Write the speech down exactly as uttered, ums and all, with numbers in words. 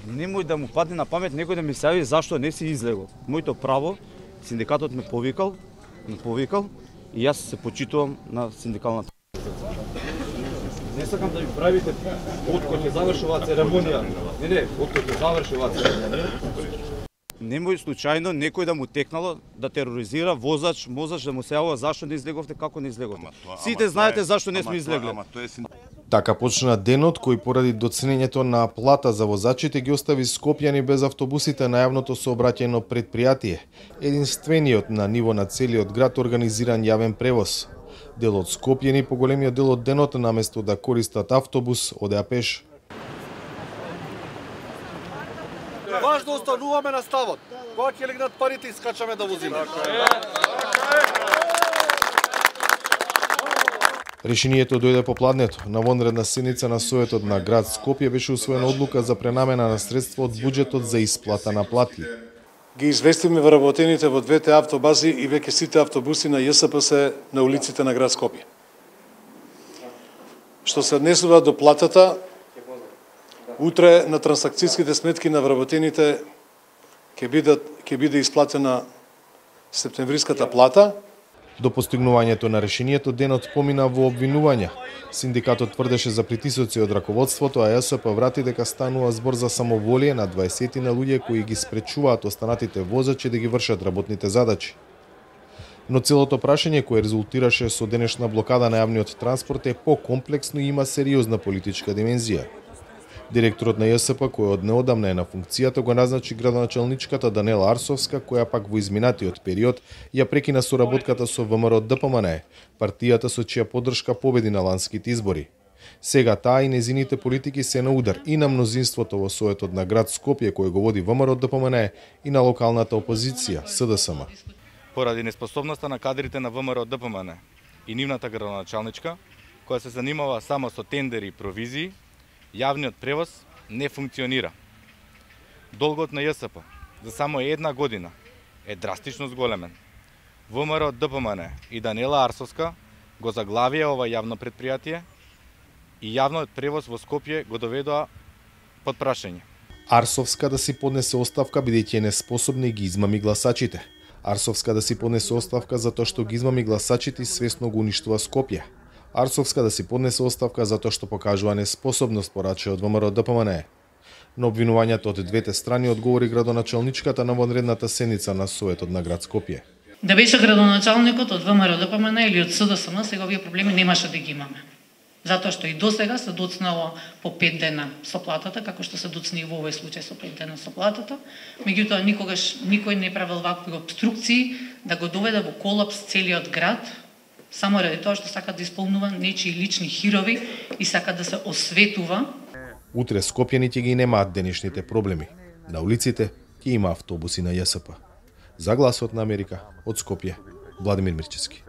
Немој да му падне на памет некој да ми се јави зашто не си излегол. Моето право, синдикатот ме повикал, ме повикал и јас се почитувам на синдикалната. Не сакам да ми правите откој ќе заврши оваа церемонија. Не, не, откој ќе заврши оваа церемонија. Немој случајно некој да му текнало да тероризира возач, мозач да му се јавува зашто не излеговте, како не излеговте. Сите знаете зашто не сме излегле. Така почна денот кој поради доценењето на плата за возачите ги остави Скопјани без автобусите на јавното сообраќајно предпријатие, единствениот на ниво на целиот град организиран јавен превоз. Дел од Скопјани по големиот дел од денот наместо да користат автобус, одеа пеш. Важно остануваме на ставот. Кога ќе легнат парите и скачаме да возиме. Решението дојде попладнето. На вонредна седница на Советот на град Скопје беше усвоена одлука за пренамена на средства од буџетот за исплата на плати. Ги известиме вработените во двете автобази и веќе сите автобуси на Ј С П се на улиците на град Скопје. Што се однесува до платата, утре на трансакцијските сметки на вработените ќе биде ќе биде исплатена септемвриската плата. До постигнувањето на решението денот помина во обвинувања. Синдикатот тврдеше за притисоци од раководството, а Ј С П врати дека станува збор за самоволие на дваесет на луѓе кои ги спречуваат останатите возачи да ги вршат работните задачи. Но целото прашање кое резултираше со денешна блокада на јавниот транспорт е покомплексно и има сериозна политичка димензија. Директорот на Ј С П, кој од неодамна е на функцијата, го назначи градоначалничката Данела Арсовска, која пак во изминатиот период ја прекина соработката со В М Р Д П М Н, партијата со чија поддршка победи на ланските избори. Сега таа и незините политики се на удар и на мнозинството во Советот на град Скопје, кој го води В М Р Д П М Н, и на локалната опозиција, С Д С М. Поради неспособноста на кадрите на В М Р Д П М Н и нивната градоначалничка, која се занимава само со тендери и провизии, јавниот превоз не функционира. Долгот на Ј С П за само една година е драстично зголемен. В М Р Д П М Н и Данела Арсовска го заглавија ова јавно предпријатие и јавниот превоз во Скопје го доведоа под прашање. Арсовска да си поднесе оставка бидејќи е неспособна и ги измами гласачите. Арсовска да си поднесе оставка затоа што ги измами гласачите и свесно го уништува Скопје. Арсовска да си поднесе оставка затоа што покажува неспособност, порача од В М Р Д П М Н. На обвинувањата од двете страни одговори градоначалничката на вонредната седница на Советот на град Скопје. Да беше градоначалникот од В М Р Д П М Н или од С Д С М, сега овие проблеми немаше да ги имаме. Затоа што и досега се доцнало по пет дена со платата, како што се доцни и во овој случај со пет дена со платата. Меѓутоа никогаш никој не правил вакви обструкции да го доведе во колапс целиот град, само ради тоа што сака да исполнува нечии лични хирови и сака да се осветува. Утре скопјаните ги немаат денешните проблеми. На улиците ќе има автобуси на Ј С П. За гласот на Америка од Скопје, Владимир Мирчевски.